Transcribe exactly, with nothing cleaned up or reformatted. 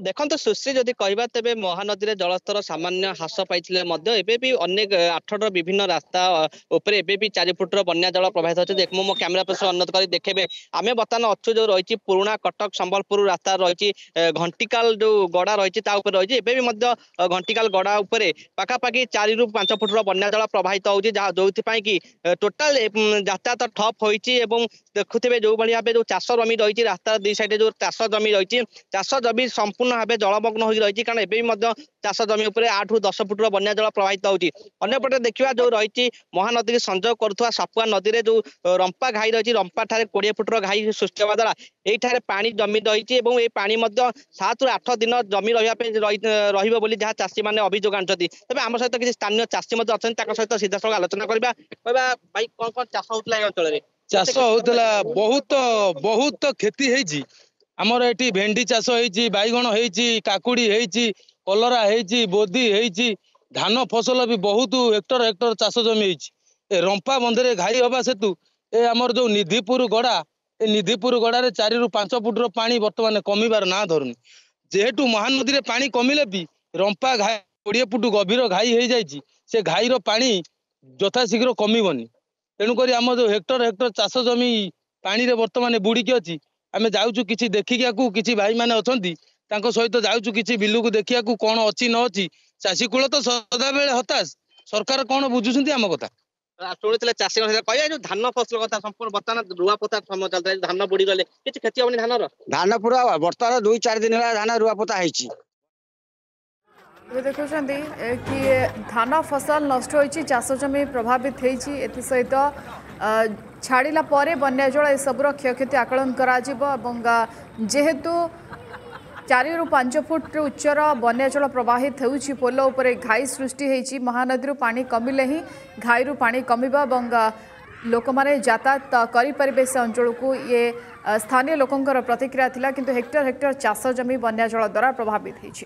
ଦେଖନ୍ତୁ ସୁଶ୍ରୀ, ଯଦି କହିବା ତେବେ ମହାନଦୀରେ ଜଳସ୍ତର ସାମାନ୍ୟ ହ୍ରାସ ପାଇଥିଲେ ମଧ୍ୟ ଏବେ ବି ଅନେକ ଆଠଗଡ଼ର ବିଭିନ୍ନ ରାସ୍ତା ଉପରେ ଏବେ ବି ଚାରି ଫୁଟର ବନ୍ୟା ଜଳ ପ୍ରବାହିତ ଅଛି। ମୁଁ ମୋ କ୍ୟାମେରା ପର୍ସନ ଅନୁରୋଧ କରି ଦେଖେଇବେ, ଆମେ ବର୍ତ୍ତମାନ ଅଛୁ ଯୋଉ ରହିଛି ପୁରୁଣା କଟକ ସମ୍ବଲପୁର ରାସ୍ତା ରହିଛି, ଘଣ୍ଟିକାଲ ଯୋଉ ଗଡା ରହିଛି ତା ଉପରେ ରହିଛି। ଏବେ ବି ମଧ୍ୟ ଘଣ୍ଟିକାଲ ଗଡା ଉପରେ ପାଖାପାଖି ଚାରିରୁ ପାଞ୍ଚ ଫୁଟର ବନ୍ୟା ଜଳ ପ୍ରବାହିତ ହଉଛି, ଯାହା ଯୋଉଥିପାଇଁ କି ଟୋଟାଲ ଯାତାୟାତ ଠପ୍ ହୋଇଛି। ଏବଂ ଦେଖୁଥିବେ ଯୋଉଭଳି ଭାବେ ଯୋଉ ଚାଷ ଜମି ରହିଛି, ରାସ୍ତାର ଦି ସାଇଡରେ ଯୋଉ ଚାଷ ଜମି ରହିଛି, ଚାଷ ଜମି ସମ୍ପୂର୍ଣ୍ଣ ଭାବେ ଜଳମଗ୍ନ ହୋଇ ରହିଛି। କାରଣ ଏବେ ବି ମଧ୍ୟ ଚାଷ ଜମି ଉପରେ ଆଠରୁ ଦଶ ଫୁଟର ବନ୍ୟା ଜଳ ପ୍ରବାହିତ ହଉଛି। ଅନ୍ୟପଟେ ଦେଖିବା ଯୋଉ ରହିଛି ମହାନଦୀକୁ ସଂଯୋଗ କରୁଥିବା ସାପୁଆ ନଦୀରେ ଯୋଉ ରମ୍ପା ଘାଇ ରହିଛି, ରମ୍ପା ଠାରେ କୋଡିଏ ଫୁଟର ଘାଇ ସୃଷ୍ଟି ହେବା ଦ୍ୱାରା ଏଇଠାରେ ପାଣି ଜମି ରହିଛି ଏବଂ ଏଇ ପାଣି ମଧ୍ୟ ସାତରୁ ଆଠ ଦିନ ଜମି ରହିବା ପାଇଁ ରହିବ ବୋଲି ଯାହା ଚାଷୀ ମାନେ ଅଭିଯୋଗ ଆଣିଛନ୍ତି। ତେବେ ଆମ ସହିତ କିଛି ସ୍ଥାନୀୟ ଚାଷୀ ମଧ୍ୟ ଅଛନ୍ତି, ତାଙ୍କ ସହିତ ସିଧାସଳଖ ଆଲୋଚନା କରିବା। କହିବା ଭାଇ, କଣ କଣ ଚାଷ ହଉଥିଲା ଏ ଅଞ୍ଚଳରେ? ଚାଷ ହଉଥିଲା, ବହୁତ ବହୁତ କ୍ଷତି ହେଇଛି ଆମର। ଏଠି ଭେଣ୍ଡି ଚାଷ ହେଇଛି, ବାଇଗଣ ହେଇଛି, କାକୁଡି ହେଇଛି, କଲରା ହେଇଛି, ବୋଦି ହେଇଛି, ଧାନ ଫସଲ ବି ବହୁତ ହେକ୍ଟର ହେକ୍ଟର ଚାଷ ଜମି ହେଇଛି। ଏ ରମ୍ପା ବନ୍ଧରେ ଘାଇ ହବା ସେତୁ ଏ ଆମର ଯୋଉ ନିଧିପୁର ଗଡା, ଏ ନିଧିପୁର ଗଡାରେ ଚାରିରୁ ପାଞ୍ଚ ଫୁଟର ପାଣି ବର୍ତ୍ତମାନ କମିବାର ନାଁ ଧରୁନି। ଯେହେତୁ ମହାନଦୀରେ ପାଣି କମିଲେ ବି ରମ୍ପା ଘାଇ କୋଡିଏ ଫୁଟ ଗଭୀର ଘାଇ ହେଇଯାଇଛି, ସେ ଘାଇର ପାଣି ଯଥାଶୀଘ୍ର କମିବନି। ତେଣୁକରି ଆମ ଯୋଉ ହେକ୍ଟର ହେକ୍ଟର ଚାଷ ଜମି ପାଣିରେ ବର୍ତ୍ତମାନ ବୁଡିକି ଅଛି। ଆମେ ଯାଉଛୁ କିଛି ଦେଖିବାକୁ, କିଛି ଭାଇମାନେ ଅଛନ୍ତି ତାଙ୍କ ସହିତ ଯାଉଛୁ କିଛି ବିଲକୁ ଦେଖିବାକୁ କଣ ଅଛି ନ ଅଛି। ଚାଷୀ କୂଳ ତ ସଦାବେଳେ ହତାଶ, ସରକାର କଣ ବୁଝୁଛନ୍ତି ଆମ କଥା? ଶୁଣିଥିଲେ ଚାଷୀଙ୍କ ସହିତ କହିବା ଯୋଉ ଧାନ ଫସଲ କଥା, ସମ୍ପୂର୍ଣ୍ଣ ବର୍ତ୍ତମାନ ରୁଆ ପୋତା ସମୟ ଚାଲିଥିଲା, ଧାନ ବୁଡି ଗଲେ କିଛି କ୍ଷତି ହବନି ଧାନର? ଧାନ ପୁରା ବର୍ତ୍ତମାନ ଦୁଇ ଚାରି ଦିନ ହେଲା ଧାନ ରୁଆ ପୋତା ହେଇଛି। ଏବେ ଦେଖୁଛନ୍ତି କି ଧାନ ଫସଲ ନଷ୍ଟ ହୋଇଛି, ଚାଷ ଜମି ପ୍ରଭାବିତ ହେଇଛି। ଏଥିସହିତ ଛାଡ଼ିଲା ପରେ ବନ୍ୟା ଜଳ ଏସବୁର କ୍ଷୟକ୍ଷତି ଆକଳନ କରାଯିବ ଏବଂ ଯେହେତୁ ଚାରିରୁ ପାଞ୍ଚ ଫୁଟ ଉଚ୍ଚର ବନ୍ୟା ଜଳ ପ୍ରବାହିତ ହେଉଛି, ପୋଲ ଉପରେ ଘାଇ ସୃଷ୍ଟି ହେଇଛି। ମହାନଦୀରୁ ପାଣି କମିଲେ ହିଁ ଘାଇରୁ ପାଣି କମିବ ଏବଂ ଲୋକମାନେ ଯାତାୟାତ କରିପାରିବେ ସେ ଅଞ୍ଚଳକୁ, ଇଏ ସ୍ଥାନୀୟ ଲୋକଙ୍କର ପ୍ରତିକ୍ରିୟା ଥିଲା। କିନ୍ତୁ ହେକ୍ଟର ହେକ୍ଟର ଚାଷ ଜମି ବନ୍ୟା ଜଳ ଦ୍ୱାରା ପ୍ରଭାବିତ ହେଇଛି।